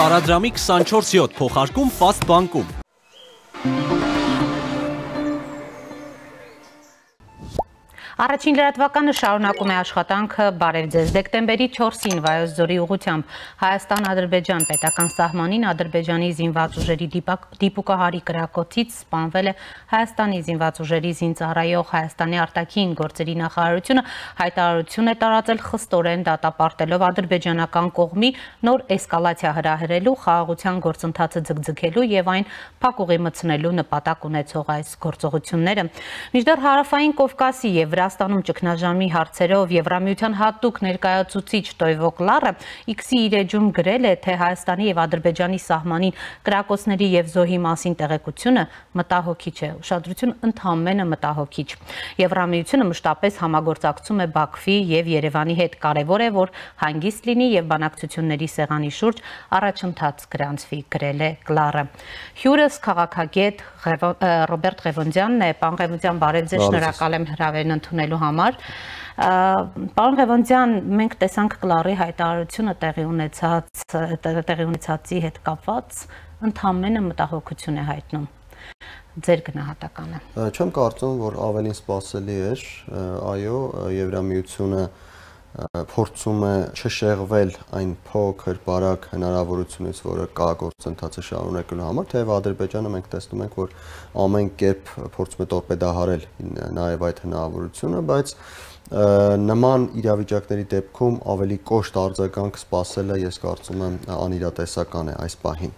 Տարադրամի 24/7 փոխարկում Fast բանկում։ Առաջին լրատվականը շարունակում է աշխատանքը բարև ձեզ դեկտեմբերի 4-ին Վայոց ձորի ուղղությամբ Հայաստան-Ադրբեջան պետական սահմանին Ադրբեջանի զինված ուժերի դիպուկահարի կրակոցից սպանվել է Հայաստանի զինված ուժերի զինծառայող Հայաստանի արտաքին գործերի նախարարությունը հայտարարություն է տարածել խստորեն դատապարտելով ադրբեջանական կողմի նոր էսկալացիա հրահրելու խաղաղության գործընթացը ձգձգելու եւ այն փակուղի մտցնելու նպատակ ունեցող այս գործողությունները։ Մինչդեռ Հարավային Կովկասի եւ Վրաստանում ճգնաժամի հարցերով Եվրամիության հատուկ ներկայացուցիչ Տոյվո Կլարը X-ի իր էջում գրել է, թե Հայաստանի եւ Ադրբեջանի սահմանին կրակոցների եւ զոհի մասին տեղեկությունը մտահոգիչ է, ուշադրություն ընդհանրապես մտահոգիչ։ Եվրամիությունը մշտապես համագործակցում է Բաքվի եւ Երևանի հետ, կարեւոր է, որ հանգիստ լինի եւ բանակցությունների սեղանի շուրջ առաջընթաց գրանցվի, գրել է Կլարը։ Հյուրս քաղաքագետ Ռոբերտ Ղևոնդյանն է, պարոն Ղևոնդյան, բարև ձեզ, շնորհակալ եմ հրավերն ընդունելու համար։ Պարոն Ղևոնդյան, մենք տեսանք Կլարի հայտարարությունը տեղի ունեցածի հետ կապված ընդհանրապես մտահոգություն է հայտնում։ Ձեր գնահատականը։ Չեմ կարծում, որ ավելին սպասելի էր, այո, Եվրամիությունը փորձում է չշեղվել այն փոքր բարակ հնարավորությունից, որը կա գործընթացը շարունակելու համար, թեև Ադրբեջանը մենք տեսնում ենք, որ ամեն կերպ փորձում է տորպեդահարել նաև այդ հնարավորությունը, բայց նման իրավիճակների դեպքում ավելի կոշտ արձագանք սպասելը, ես կարծում եմ, անիրատեսական է այս պահին։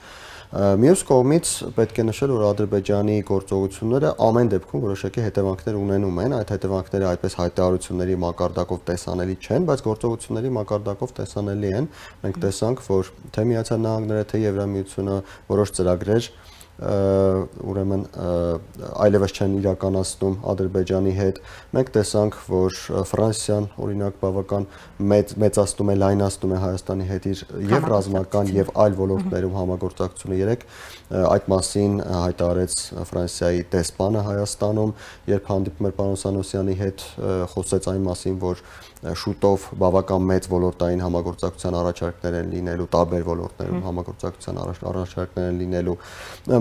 Մյուս կողմից պետք է նշել, որ Ադրբեջանի գործողությունները ամեն դեպքում որոշակի հետևանքներ ունենում են, այդ հետևանքները այդպես հայտարարությունների մակարդակով տեսանելի չեն, բայց գործողությունների մակարդակով տեսանելի են։ Մենք տեսանք, որ թե Միացյալ Նահանգները, թե Եվրամիությունը որոշ ծրագրեր ուրեմն այլևս չեն իրականացնում Ադրբեջանի հետ։ Մենք տեսանք, որ Ֆրանսիան օրինակ բավական մեծացնում է, լայնացնում է Հայաստանի հետ իր եւ ռազմական եւ այլ ոլորտներում համագործակցությունը։ Երեք այդ մասին հայտարարեց Ֆրանսիայի դեսպանը Հայաստանում, երբ հանդիպում էր պարոն Սանոսյանի հետ, խոսեց այն մասին, որ շուտով բավական մեծ ոլորտային համագործակցության առաջարկներ են լինելու, տարբեր ոլորտներում համագործակցության առաջարկներ են լինելու։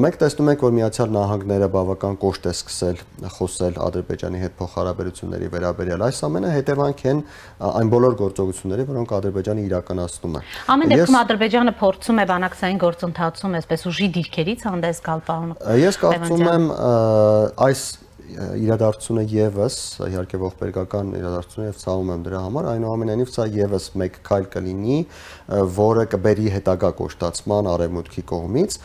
Մենք տեսնում ենք, որ Միացյալ Նահանգները բավական կոշտ է սկսել խոսել Ադրբեջանի հետ փոխհարաբերությունների վերաբերյալ։ Այս ամենը հետևանք են այն բոլոր գործողությունների, որոնք Ադրբեջանը իրականացնում է։ Ամեն դեպքում Ադրբեջանը փորձում է բանակցային գործընթացում այսպես ուժի դիրքերից հանդես գալ, պարոն։ Ես կարծում եմ այս իրադարձությունը եւս իհարկե ողբերգական իրադարձություն եւ ցավում եմ դրա համար, այնուամենայնիվ սա եւս մեկ քայլ կլինի, որը կբերի հետագա կոշտացման արևմուտքի կողմից։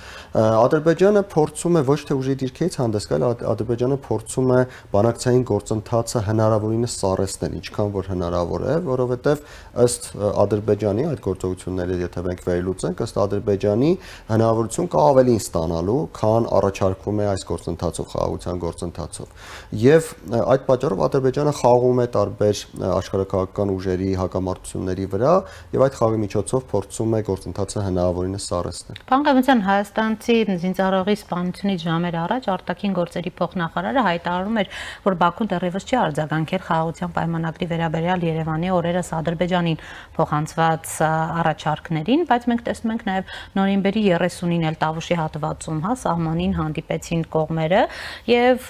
Ադրբեջանը փորձում է ոչ թե ուժի դիրքերից հանդես գալ, Ադրբեջանը փորձում է բանակցային գործընթացը հնարավորինս սառեցնել, ինչքան որ հնարավոր է, որովհետեւ ըստ Ադրբեջանի այդ գործողությունները, եթե մենք վերլուծենք, ըստ Ադրբեջանի հնարավորություն կա ավելին ստանալու, քան առաջարկվում է այս գործընթացով, խաղաղության գործընթացով։ Եվ այդ պատճառով Ադրբեջանը խաղում է տարբեր աշխարհաքաղաքական ուժերի հակամարտությունների վրա եւ այդ խաղի միջոցով փորձում է գործընթացը հնարավորինս սառեցնել։ Պարոն Ղևոնդյան, հայաստանցի զինծառայողի սպանությունից ժամեր առաջ արտաքին գործերի փոխնախարարը հայտարարում էր, որ Բաքուն դեռևս չի արձագանքել խաղաղության պայմանագրի վերաբերյալ Երևանի օրերս Ադրբեջանին փոխանցված առաջարկներին, բայց մենք տեսնում ենք նաեւ նոյեմբերի 30-ին էլ Տավուշի հատվածում, սահմանին հանդիպեցին կողմերը եւ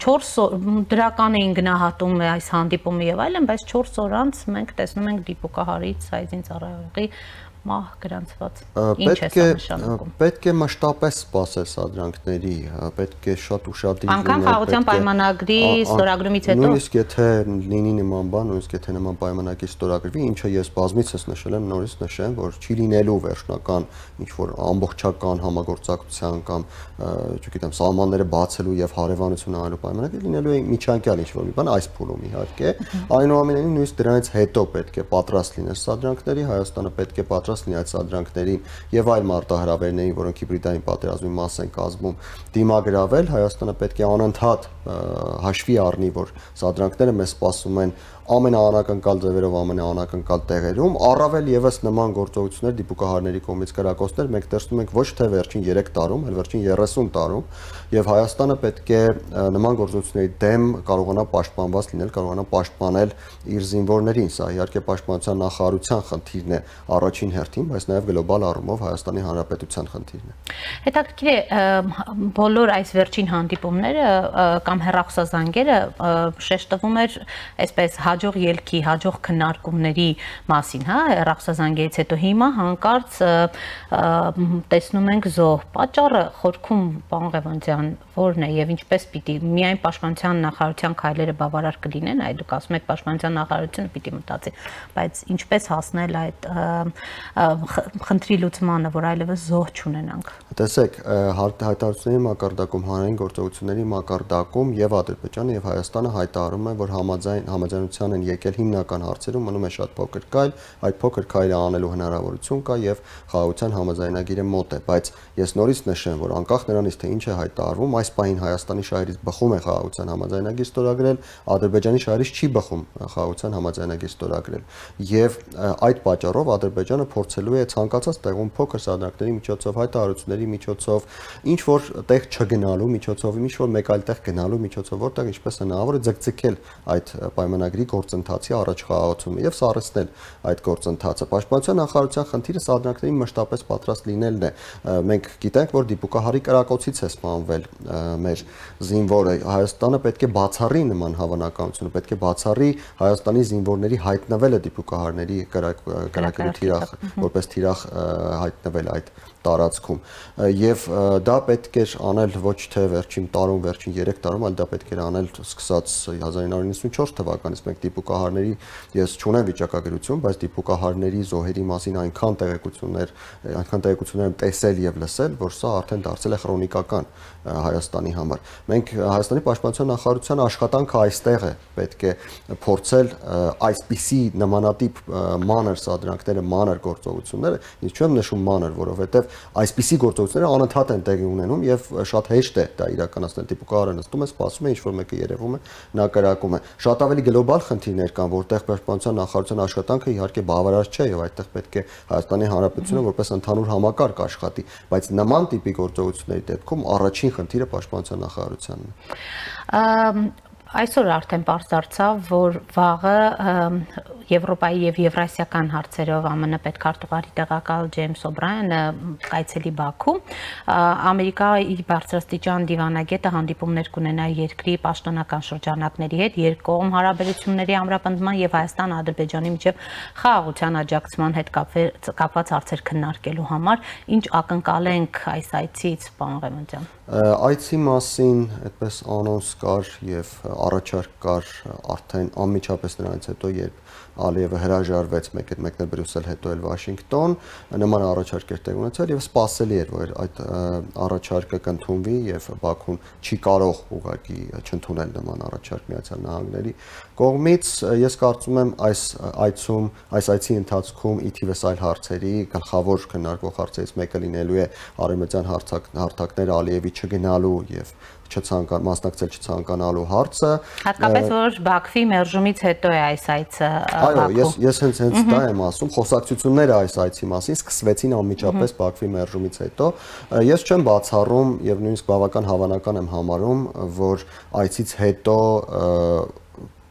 4 դրական էին գնահատում այս հանդիպումը եւ այլն, բայց 4 օր անց մենք տեսնում ենք դիպուկահարից հայ զինծառայողի մահ գրանցված։ Ինչ է սա նշանակում։ Պետք է մշտապես սպասել սադրանքների, պետք է շատ ուշադիր լինել։ Անկամ խաղաղության պայմանագրի ստորագրումից հետո։ Նույնիսկ եթե լինի նման բան, նույնիսկ եթե նման պայմանագրի ստորագրվի, ինչը ես բազմիցս նշել եմ, նորից նշեմ, որ չի լինելու վերջնական ինչ-որ ամբողջական համագործակցության կամ, չգիտեմ, սահմանները բացելու եւ հարևանություն անելու պայմանագրի, լինելու է միջանկյալ ինչ-որ մի բան այս փուլում իհարկե։ Այնուամենայնիվ նույնիսկ դրանից հետո պետք է պատրաստ լինել սադրանքների, Հայաստանը պետք է պատրաստ լինի այդ սադրանքներին եւ այլ մարտահրավերներին, որոնք հիբրիդային պատերազմի մաս են կազմում, դիմագրավել, Հայաստանը պետք է անընդհատ հաշվի առնի, որ սադրանքները մեզ սպասում են ամենաանակնկալ ձևերով, ամենաանակնկալ տեղերում, առավել եւս նման գործողություններ դիպուկահարների կողմից կրակոցներ մենք տեսնում ենք ոչ թե վերջին 3 տարում, այլ վերջին 30 տարում, եւ Հայաստանը պետք է նման գործողությունների դեմ կարողանա պաշտպանված լինել, կարողանա պաշտպանել իր զինվորներին, սա իհարկե պաշտպանության նախարարության խնդիրն է առաջին հերթին, բայց նաեւ գլոբալ առումով Հայաստանի Հանրապետության խնդիրն է։ Հետաքրքիր է բոլոր այս վերջին հանդիպումները կամ հեռախոսազանգերը շեշտվում էր այսպես հաջող ելքի, հաջող քննարկումների մասին, հա, հեռախոսազանգերից հետո հիմա հանկարծ տեսնում ենք զոհ։ Պատճառը խորքում պարոն Ղևոնդյան որն է եւ ինչպես պիտի միայն պաշտպանության նախարարության քայլերը բավարար կլինեն, այլ դուք ասում եք պաշտպանության նախարարությունը պիտի մտածի, բայց ինչպես հասնել այդ խնդրի լուծմանը, որ այլևս զոհ չունենանք։ Տեսեք, հայտարարությունների մակարդակում, հանրային գործողությունների մակարդակում եւ Ադրբեջանը եւ Հայաստանը հայտարարում են, որ համաձայնության են եկել հիմնական հարցերում, մնում է շատ փոքր քայլ, այդ փոքր քայլը անելու հնարավորություն կա եւ խաղաղության համաձայնագիրը մոտ է, բայց ես նորից նշեմ, որ անկախ նրանից թե ինչ է հայտարարվում, այս պահին Հայաստանի շահերից բխում է խաղաղության համաձայնագիր ստորագրել, Ադրբեջանի շահերից չի բխում խաղաղության համաձայնագիր ստորագրել եւ այդ պատճառով Ադրբեջանը փորձելու է ցանկացած տեղում փոքր սադրանքների միջոցով, հայտարարությունների միջոցով, ինչ որ տեղ չգնալու միջոցով, ինչ որ մեկ այլ տեղ գնալու միջոցով, որտեղ ինչպես հնարավոր է ձգձգել այդ պայմանագրի գործընթացի առաջ խաղաղացումը եւ սառեցնել այդ գործընթացը։ Պաշտպանության նախարարության խնդիրը սադրանքների մշտապես պատրաստ լինելն է։ Մենք գիտենք, որ դիպուկահարի կրակոցից է սպանվել մեր զինվորը։ Հայաստանը պետք է բացառի նման հավանականությունը, պետք է բացառի Հայաստանի զինվորների հայտնվելը դիպուկահարների կրակելու թիրախ, որպես թիրախ հայտնվել այդ տարածքում եւ դա պետք էր անել ոչ թե վերջին տարում, վերջին 3 տարում, այլ դա պետք էր անել սկսած 1994 թվականից։ Մենք դիպուկահարների, ես չունեմ վիճակագրություն, բայց դիպուկահարների զոհերի մասին այնքան տեղեկություններ եմ տեսել եւ լսել, որ սա արդեն դարձել է քրոնիկական Հայաստանի համար։ Մենք Հայաստանի պաշտպանության նախարարության աշխատանքը այստեղ է, պետք է փորձել այսպիսի նմանատիպ մանր սադրանքները, մանր գործողությունները, ինչ չեմ նշում մանր, որովհետեւ այսպիսի գործողությունները անընդհատ են տեղի ունենում եւ շատ հեշտ է դա իրականացնել։ Դիպուկահարը նստում է, սպասում է, ինչ որ մեկը երևում է, նա կրակում է։ Շատ ավելի գլոբալ խնդիրներ կան, որտեղ պաշտպանության նախարարության աշխատանքը իհարկե բավարար չէ եւ այդտեղ պետք է Հայաստանի Հանրապետությունը որպես ընդհանուր համակարգ աշխատի, բայց նման տիպի գործողությունների դեպքում առաջին խնդիրը պաշտպանության նախարարությանն է։ Այսօր արդեն պարզ դարձավ, որ վաղը Եվրոպայի եւ Եվրասիական հարցերով ԱՄՆ պետքարտուղարի տեղակալ Ջեյմս Օբրայանը կայցելի Բաքու, Ամերիկայի բարձրաստիճան դիվանագետը հանդիպումներ կունենա երկրի պաշտոնական շրջանակների հետ, երկկողմ հարաբերությունների ամրապնդման եւ Հայաստան-Ադրբեջանի միջև խաղաղության աջակցման հետ կապված հարցեր քննարկելու համար, ինչ ակնկալենք այս այցից, պարոն Ղևոնդյան։ Այցի մասին այդպես անոնս կար եւ առաջարկ կար արդեն անմիջապես նրանից հետո, երբ Ալիևը հրաժարվեց մեկնել Բրյուսել, հետո էլ Վաշինգտոն, նման առաջարկ էր տեղ ունեցել եւ սպասելի էր, որ այդ առաջարկը կընդունվի եւ Բաքուն չի կարող ուղղակի չընդունել նման առաջարկ Միացյալ Նահանգների կողմից։ Ես կարծում եմ այս այցի ընթացքում ի թիվս այլ հարցերի գլխավոր քննարկվող հարցերից մեկը լինելու է արևմտյան հարթակներ Ալիևի չգնալու եւ մասնակցել չցանկանալու հարցը, հատկապես որ Բաքվի մերժումից հետո է այս այցը Այո, ես հենց դա եմ ասում, խոսակցությունները այս այցի մասին սկսվեցին անմիջապես Բաքվի մերժումից հետո։ Ես չեմ բացառում եւ նույնիսկ բավական հավանական եմ համարում, որ այցից հետո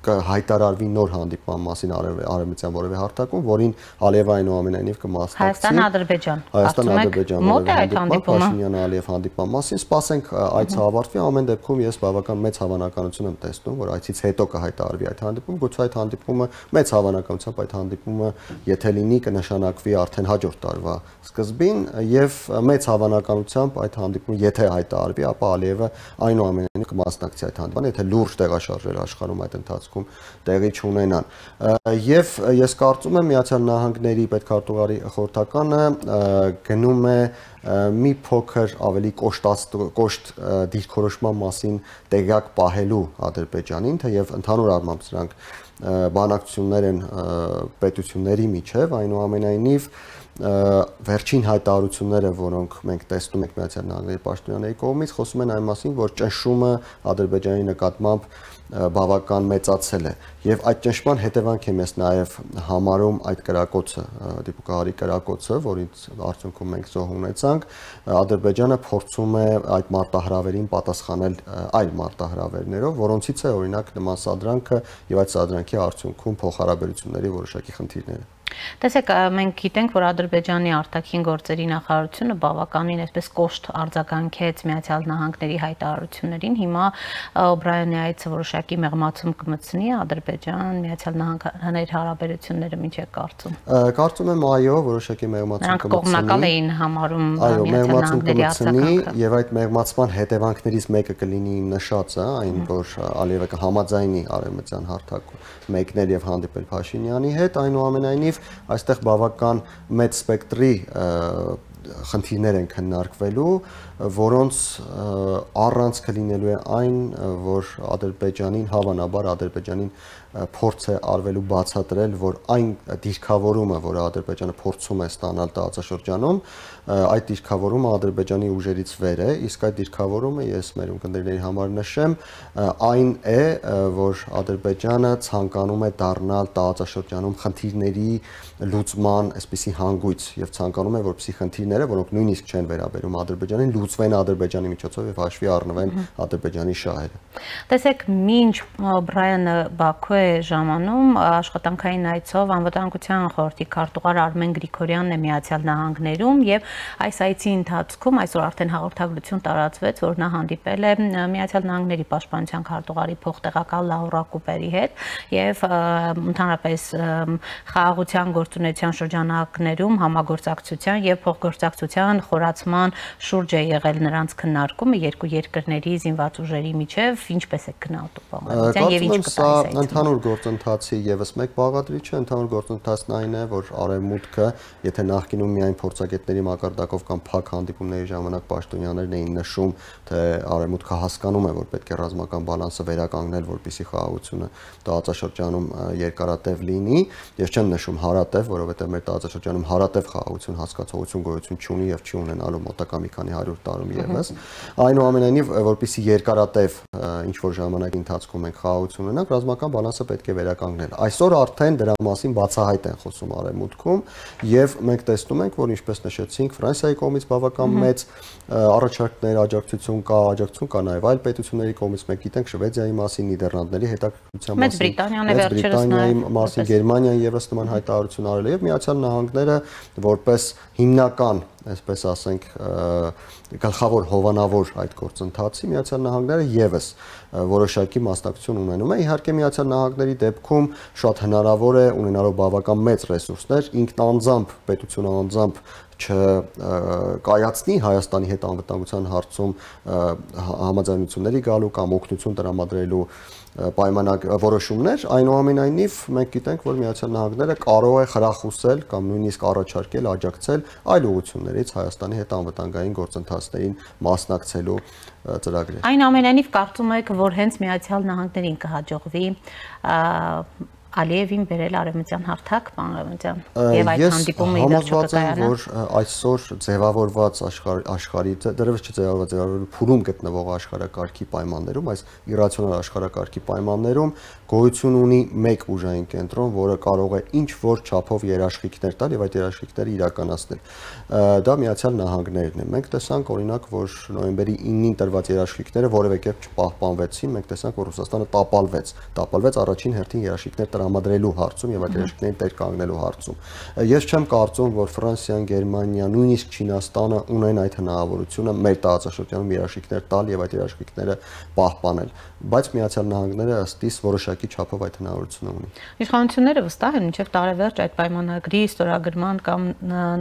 հայտարարվի նոր հանդիպման մասին արևմտյան որևէ հարթակում, որին Ալիևը այնուամենայնիվ կմասնակցի։ Հայաստան-Ադրբեջան Փաշինյան-Ալիև հանդիպման մասին։ Սպասենք այցը ավարտվի, ամեն դեպքում ես բավական մեծ հավանականություն եմ տեսնում, որ այցից հետո կհայտարարվի այդ հանդիպումը, գուցե այդ հանդիպումը մեծ հավանականությամբ այդ հանդիպումը, եթե լինի, կնշանակվի արդեն հաջորդ տարվա սկզբին եւ մեծ հավանականությամբ այդ հանդիպումը եթե հայտարարվի, ապա Ալիևը այնուամենայնիվ կմասնակցի այդ հանդիպմանը, եթե լուրջ տեղաշարժեր աշխարհում այդ ընթացքում տեղի չունենան։ Եվ ես կարծում եմ Միացյալ Նահանգների պետքարտուղարի խորհրդականը գնում է մի փոքր ավելի կոշտ դիրքորոշման մասին տեղյակ պահելու Ադրբեջանին, թեև ընդհանուր առմամբ սրանք բանակցություններ են պետությունների միջև, այնուամենայնիվ վերջին հայտարարությունները, որոնք մենք տեսնում ենք Միացյալ Նահանգների պաշտոնյաների կողմից, խոսում են այն մասին, որ ճնշումը Ադրբեջանի նկատմամբ բավական մեծացել է եւ այդ ճնշման հետևանք եմ ես նաեւ համարում այդ կրակոցը, դիպուկահարի կրակոցը, որից արդյունքում մենք զոհ ունեցանք, Ադրբեջանը փորձում է այդ մարտահրավերին պատասխանել այլ մարտահրավերներով, որոնցից է օրինակ նման սադրանքը եւ այդ սադրանքի արդյունքում փոխհարաբերությունների որոշակի խնդիրները։ Տեսեք, մենք գիտենք, որ Ադրբեջանի արտաքին գործերի նախարարությունը բավականին այսպես կոշտ արձագանքեց Միացյալ Նահանգների հայտարարություններին։ Հիմա Օբրայանի այցը որոշակի մեղմացում կմտցնի Ադրբեջան, Միացյալ Նահանգների հարաբերությունները ինչ եք կարծում։ Կարծում եմ այո, որոշակի մեղմացում կմտցնի։ Նրանք կողմնակալ էին համարում Միացյալ Նահանգների արձագանքը։ Եվ այդ մեղմացման հետևանքներից մեկը կլինի իմ նշածը, այն որ Ալիևը կհամաձայնի արևմտյան հարթակում մեկնել եւ հանդիպել Փաշինյանի հետ, այնուամենայնիվ այստեղ բավական մեծ սպեկտրի խնդիրներ են քննարկվելու, որոնց առանցքը լինելու է այն, որ Ադրբեջանին, հավանաբար Ադրբեջանին փորձ է արվելու բացատրել, որ այն դիրքավորումը, որը Ադրբեջանը փորձում է ստանալ տարածաշրջանում, այդ դիրքավորումը Ադրբեջանի ուժերից վեր է, իսկ այդ դիրքավորումը ես մեր ունկնդիրների համար նշեմ, այն է, որ Ադրբեջանը ցանկանում է դառնալ տարածաշրջանում խնդիրների լուծման այսպիսի հանգույց եւ ցանկանում է, որպեսզի խնդիրները, որոնք նույնիսկ չեն վերաբերում Ադրբեջանին, լուծվեն Ադրբեջանի միջոցով եւ հաշվի առնվեն Ադրբեջանի շահերը։ Տեսեք, մինչ Բրայանը Բաքու է ժամանում, աշխատանքային այցով անվտանգության խորհրդի քարտուղար Արմեն Գրիգորյանն է Միացյալ Նահանգներում եւ այս այցի ընթացքում այսօր արդեն հաղորդագրություն տարածվեց, որ նա հանդիպել է Միացյալ Նահանգների պաշտպանության քարտուղարի փոխտեղակալ Լաուրա Կուպերի հետ եւ ընդհանրապես խաղաղության գործունեության շրջանակներում համագործակցության եւ փոխգործակցության խորացման շուրջ է եղել նրանց քննարկումը երկու երկրների զինված ուժերի միջև, ինչպես է գնահատում բաղադրիչը եւ ինչ կտա ընդհանուր գործընթացի եւս մեկ բաղադրիչը, ընդհանուր գործընթացն այն է, որ Արևմուտքը, եթե նախկինում միայն փորձագետների մակարդակով կամ փակ հանդիպումների ժամանակ պաշտոնյաներն էին նշում, թե Արևմուտքը հասկանում է, որ պետք է ռազմական բալանսը վերականգնել, որպեսզի խաղաղությունը տարածաշրջանում երկարատև լինի, ես չեմ նշում հարատև, որովհետեւ մեր տարածաշրջանում հարատև խաղաղություն հասկացողություն գոյություն չունի եւ չի ունենալու մոտակա մի քանի 100 տարում եւս։ Այնուամենայնիվ, որպեսզի երկարատև ինչ որ ժամանակի ընթացքում ենք խաղաղություն ունենանք, ռազմական բալանսը պետք է վերականգնել։ Այսօր արդեն դրա մասին բացահայտ են խոսում Արևմուտքում եւ մենք տեսնում ենք, որ ինչպես նշեցինք, Ֆրանսիայի կողմից բավական մեծ առաջարկներ, աջակցություն կա նաեւ այլ պետությունների կողմից, մենք գիտենք Շվեդիայի մասին, Նիդերլանդների հետաքրքրության մասին, Մեծ Բրիտանիայի մասին, Գերմանիան եւս նման հայտարարություն արել է եւ Միացյալ Նահանգները որպես հիմնական, այսպես ասենք, գլխավոր հովանավոր այդ գործընթացի Միացյալ Նահանգները եւս որոշակի մասնակցություն ունենում է։ Իհարկե Միացյալ Նահանգների դեպքում շատ հնարավոր է ունենալով բավական մեծ ռեսուրսներ ինքնանձամբ, պետությունը անձամբ չկայացնի Հայաստանի հետ անվտանգության հարցում համաձայնությունների գալու կամ օգնություն տրամադրելու որոշումներ, այնուամենայնիվ մենք գիտենք, որ Միացյալ Նահանգները կարող է խրախուսել կամ նույնիսկ առաջարկել, աջակցել այլ ուղղություններից Հայաստանի հետ անվտանգային գործընթացներին մասնակցելու ծրագրեր։ Այնուամենայնիվ կարծում եք, որ հենց Միացյալ Նահանգներին կհաջողվի Ալիևին բերել արևմտյան հարթակ, պարոն Արևմտյան, եւ այդ հանդիպումը իդաշո կկայանա։ Որ այսօր ձևավորված աշխարհի, դեռևս չձևավորված փուլում գտնվող աշխարհակարգի պայմաններում, այս իրացիոնալ աշխարհակարգի պայմաններում գոյություն ունի մեկ ուժային կենտրոն, որը կարող է ինչ որ չափով երաշխիքներ տալ եւ այդ երաշխիքները իրականացնել։ Դա Միացյալ Նահանգներն են։ Մենք տեսանք օրինակ, որ նոյեմբերի 9-ին տրված երաշխիքները որևէ կերպ չպահպանվեցին, մենք տեսանք, որ Ռուսաստանը տապալվեց առաջին հերթին երաշխիքներ տրամադրելու հարցում եւ այդ երաշխիքներին տեր կանգնելու հարցում։ Ես չեմ կարծում, որ Ֆրանսիան, Գերմանիան, նույնիսկ Չինաստանը ունեն այդ հնարավորությունը մեր տարածաշրջանում երաշխիքներ տալ եւ այդ երաշխիքները պահպանել, բայց Միացյալ Նահանգները ըստ իս որոշակի չափով այդ հնարավորությունը ունի։ Իշխանությունները վստահ են մինչև տարեվերջ այդ պայմանագրի ստորագրման կամ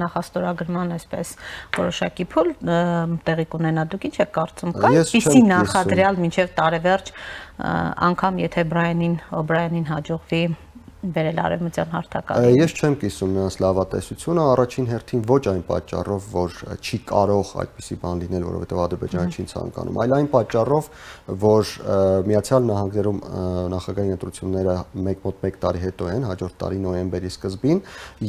նախաստորագրման այսպես որոշակի փուլ տեղի կունենա։ Դուք ինչ եք կարծում, կա այդպիսի նախադրյալ մինչև տարեվերջ, անգամ եթե Օբրայանին հաջողվի բերել արևմտյան հարթակը։ Ես չեմ կիսում նրանց լավատեսությունը, առաջին հերթին ոչ այն պատճառով, որ չի կարող այդպիսի բան լինել, որովհետև Ադրբեջանը չի ցանկանում, այլ այն պատճառով, որ Միացյալ Նահանգներում նախագահային ընտրությունները մոտ 1 տարի հետո են, հաջորդ տարի նոյեմբերի սկզբին,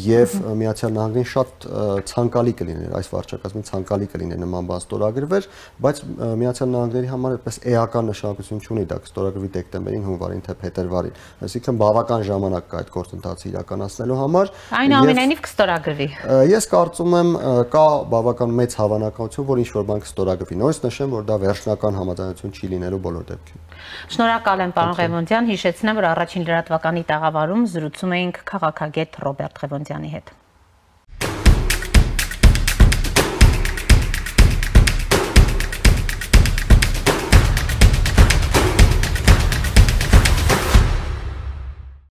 եւ Միացյալ Նահանգներին շատ ցանկալի կլիներ, այս վարչակազմին ցանկալի կլիներ նման բան ստորագրվեր, բայց Միացյալ Նահանգների համար այդպես էական նշանակություն չունի դա կստորագրվի դեկտեմբերին, հունվարին թե փետրվարին, այսինքն բավական ժամանակ կա այդ գործընթացը իրականացնելու համար։ Այնուամենայնիվ կստորագրվի։ Ես կարծում եմ կա բավական մեծ հավանականություն, որ ինչ-որ բան կստորագրվի։ Նույնիսկ նշեմ, որ դա վերջնական համաձայնություն չի լինելու բոլոր դեպքերում։ Շնորհակալ եմ, պարոն Ղևոնդյան, հիշեցնեմ, որ առաջին լրատվականի տաղավարում զրուցում էինք քաղաքագետ Ռոբերտ Ղևոնդյանի հետ։